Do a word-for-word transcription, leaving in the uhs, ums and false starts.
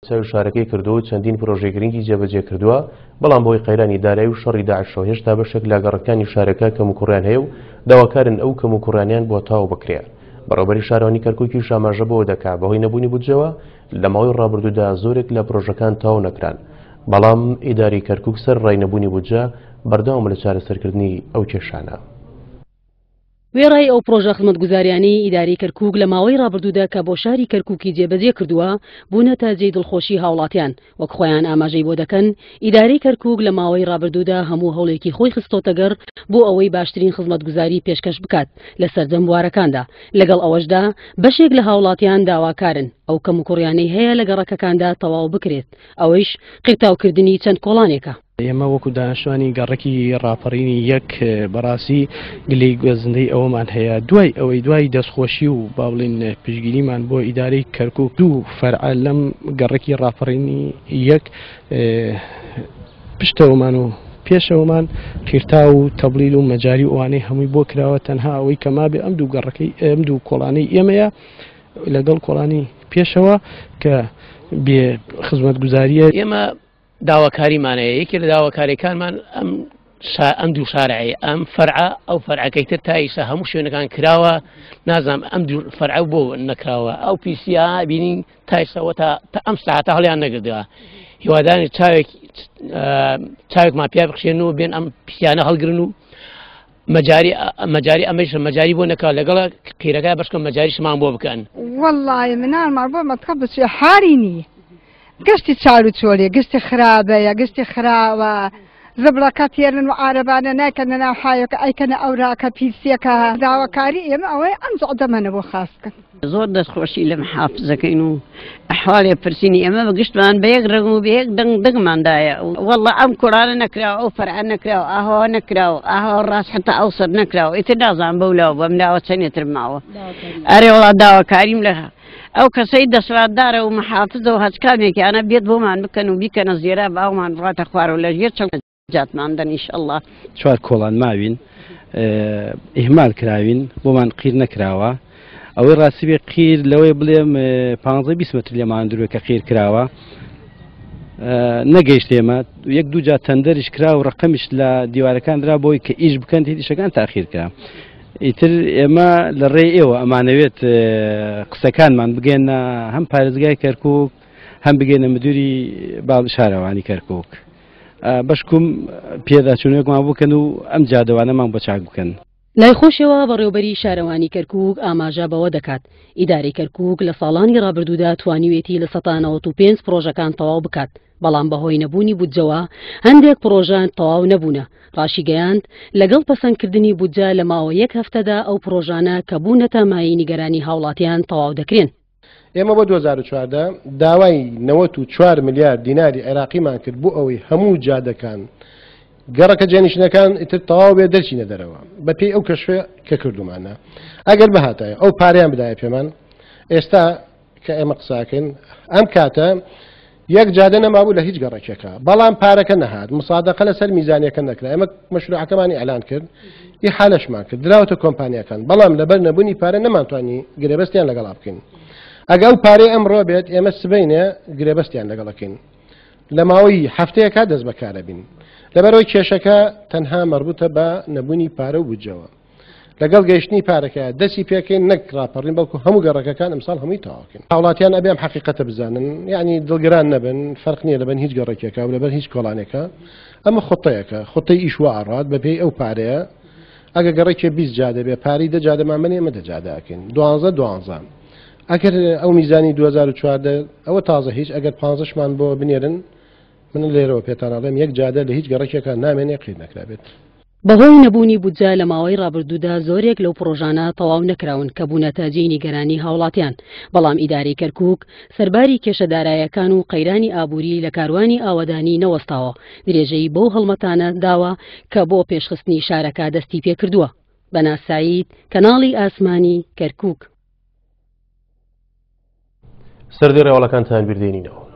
چاوی شارەکەی کردووە و چەندین پرۆژەی گرنگی جێبەجێ کردووە، بەڵام بەهۆی قەیرانی دارایی و شەڕی داعشەوە هێشتا بەشێک لە گەڕەکانی شارەکە کەموکوڕیان هەیە و داواکارن ئەو کەموکوڕیانیان بۆ تەواو بکرێ. بەڕێوەبەری شارەوانی کەرکووکیش ئاماژە بەوە دەکا بەهۆی نەبوونی بودجەوە لە ماوەی ڕابردوودا زۆرێک لە پرۆژەکان تەواو نەکران، بەڵام ئیدارەی کەرکووک سەر ڕای نەبوونی بودجە بەردەوامە لە چارەسەرکردنی ئەو کێشانە. وێڕای ئەو پرۆژە خزمەتگوزاریانەی ئیدارەی کەرکووک لە ماوەی ڕابردوودا کە بۆ شاری کەرکووکی جێبەجێ کردووە بوونەتە جێی دڵخۆشی هاوڵاتیان، وەک خۆیان ئاماژەی بۆ دەکەن ئیدارەی کەرکووک لە ماوەی ڕابردوودا هەموو هەوڵێکی خۆی خستۆتە گەڕ بۆ ئەوەی باشترین خزمەتگوزاری پێشکەش بکات لە سەرجەم بوارەکاندا. لەگەڵ ئەوەشدا بەشێک لە هاوڵاتیان داواکارن ئەو کەموکوڕیانەی هەیە لە گەڕەکەکاندا تەواو بکرێت، ئەوەیش قیرتاوکردنی چەند کۆڵانێکە. ئێمە وەکو دانیشتوانی گەڕەکی ڕاپەڕینی یەک بەڕاستی گلەی گوێزندەی ئەوەمان هەیە دوای ئەوەی دوای دەستخۆشی و با بڵین پشتگیریمان بۆ ئیدارەی کەرکوک دوو فەرع لەم گەڕەکی ڕاپەڕینی یەک پشتەوەمان و پێشەوەمان قیرتاو و تەبلیل و مەجاری و ئەوانەی هەمووی بۆ کراوە، تەنها ئەوەی کە مابێ ئەم دوو گەڕەکەی ئەم دوو کۆڵانەی ئێمەیە لەگەڵ کۆڵانی پێشەوە کە بێ خزمەتگوزاریە. ئێمە داواکاریمانەیە، یەکێ لە داواکاریەکانمان ئەم ئەم دوو شارعەیە، ئەم فەرعە ئەو فەرعەکەی تر تا ئیسا هەموو شوێنەکان کراوە، نازانم ئەم دوو فەرعە بۆ نەکراوە. ئەو پیسیا بینین تا ئیساوە تا ئەم ساعتە هەڵیان نەگردەوە. هیوادانی چاوێک چاوێکمان پیا بخشێن و بێن ئەم پیسیانە هەڵگرن و مەجاری مەجاری ئەمەش مەجاری بۆ نەکا، لەگەڵ قیرەکە بەشکە مەجاریشمان بۆ بکەن. وەڵڵاهی مناڵمان بۆ مەتقە بچێ حالی نییە، گەشتی چار و چۆلێ، گەشتی خراپەیە، گەشتی خراوە، زبڵەکە تێرن و عارەبانە نایکەنە ناو حایەکە، ئەیکەنە ئەوراکە پیسیەکە. داواکاری ئێمە ئەوەیە ئەم جەعدەمەنە بۆ خاس بکەن. زۆر دەستخۆشی لە محافزەکەین و ئەحواڵێ پرسینی ئێمە بە گشتمان بە یەک ڕەنگ و بە یەک دەنگ دەنگماندایە. وەڵڵا ئەم کوڕانە نەکراوە، ئەو فەرعە نەکراوە، ئاهەوە نەکراوە، ئاهەوە ڕاست حتا ئەو سەر نەکراوە، ئیتر نازانم بەو لاوە بەم لاوە چەندێتر ماوە. ئەرێ وەڵا داواکاریم لە ئەو کەسەی دەسەڵاتدارە و محافزە و هەچ کامێکیانە بێت بۆمان بکەن و بیکەنە زێرا باومان بڕاتە خوارەوە لە ژێر چەند جاتمان دەن ئینشەڵڵا. چوار کۆڵان ماوین ئیهمال کراوین، بۆمان قیر نەکراوە. ئەوەی ڕاستی بێ قیر لەوەی بڵێم پانزە بیست مەتر لێمان دوورە کە قیر کراوە نەگەیشت ئێمە، یەک دوو جار تەندەریش کرا و ڕقەمیش لە دیوارەکان درا بۆی کە ئیش بکەن ئیشەکان تاخیر کرا. ئیتر ئێمە لە ڕێی ئێوە ئەمانەوێت قسەکانمان بگەینە هەم پارێزگای کەرکوک هەم بگەینە مدیری باڵ شارەوانی کەرکوک، بەشکم پێداچوونەوەیەکمان بکەن و ئەم جادەوانەمان بۆ چاک بکەن. لای خۆشەوە بەڕێوبەری شارەوانی کەرکوک ئاماژە بەوە دەکات ئیدارەی کەرکوک لە ساڵانی ڕابردوودا توانیوێتی لە سەتا نەوەت و پێنج پرۆژەکان تەواو بکات، بەڵام بەهۆی نەبوونی بودجەوە هەندێک پرۆژە تەواو نەبوونە. ڕاشیگەیاند لەگەڵ پەسەندکردنی بودجە لە ماوە یەک هەفتەدا ئەو پرۆژانە کە بوونەتە مایەی نیگەرانی هاوڵاتیان تەواو دەکرێن. ئێمە بۆ دوو هەزار و چواردە داوای نەوەت و چوار ملیار دیناری عێراقیمان کرد بۆ ئەوەی هەموو جادەکان گەڕەکە جێنشینەکان ئیتر تەواو بێ دەرچینە دەرەوە بەپێی ئەو کەشفە کە کردومانە. ئەگەر بهاتایە ئەو پارەیان بدایە پێمان، ئێستا کە ئێمە قساکەین ئەم کاتە یەک جادە نەمابوو لە هیچ گەڕەکێکە، بەڵام پارەکە نەهات، مسادەقە لەسەر میزانیەکە نەکرا. ئێمە مەشروعەکەمانی ئیعلان کرد، ئیحالەشمان کرد، دراوەتە کۆمپانیاکان، بەڵام لەبەر نەبوونی پارە نەمانتوانی گرێبەستیان لەگەڵا بکەین. ئەگە ئەو پارەی ئەمڕۆ بێت ئێمە سبەینێ گرێبەستیان لەگەڵەکەین، لە ماوەی هەفتەیەکا دەست بەکارە بین. لەبەرەوەی کێشەکە تەنها مەربوتە بە نەبوونی پارە و بودجەوە. لەگەڵ گەیشتنی پارەکە دەستی پێکەین نەک ڕاپەڕین، بەڵکو هەموو گەڕەکەکان ئەمساڵ هەمووی تەواوکەین. هاوڵاتیان ئەبێ ئەم حەقیقەتە بزانن، یعنی دڵگران نەبن، فەرق نییە لەبەر هیچ گەڕەکێکە و لەبەر هیچ کۆڵانێکە. ئەمە خطەیەکە، خطەی ئیش وا ئەڕات بەپێی ئەو پارەیە. ئەگە گەڕێکێ بیست جادە بێ پارەی دە جادەمان بنێ، ئێمە دە جادە ئەکەین، دوانزە دوانزە. ئەگەر ئەو میزانی دوو هەزار و چواردە ئەوە تازە هیچ، ئەگەر پانزەشمان بۆ بنێرن، من لێرەوە پێتان ئەڵێم یەک جادە لە هیچ گەڕەکێکە نامێنێ قیر نەکرابێت. بەهۆی نەبوونی بودجە لە ماوەی ڕابردوودا زۆرێک لەو پرۆژانە تەواو نەکراون کە بوونەتە جێی نیگەرانی هاوڵاتیان، بەڵام ئیدارەی کەرکوک سەرباری کێشە دارایەکان و قەیرانی ئابووری لە کاروانی ئاوەدانی نەوەستاوە، درێژەی بەو هەڵمەتانە داوە کە بۆ پێشخستنی شارەکە دەستی پێکردووە. بەنا سعید، کەناڵی ئاسمانی کەرکوک. سەردی ڕێواڵەکانتان بیردێنینەوە.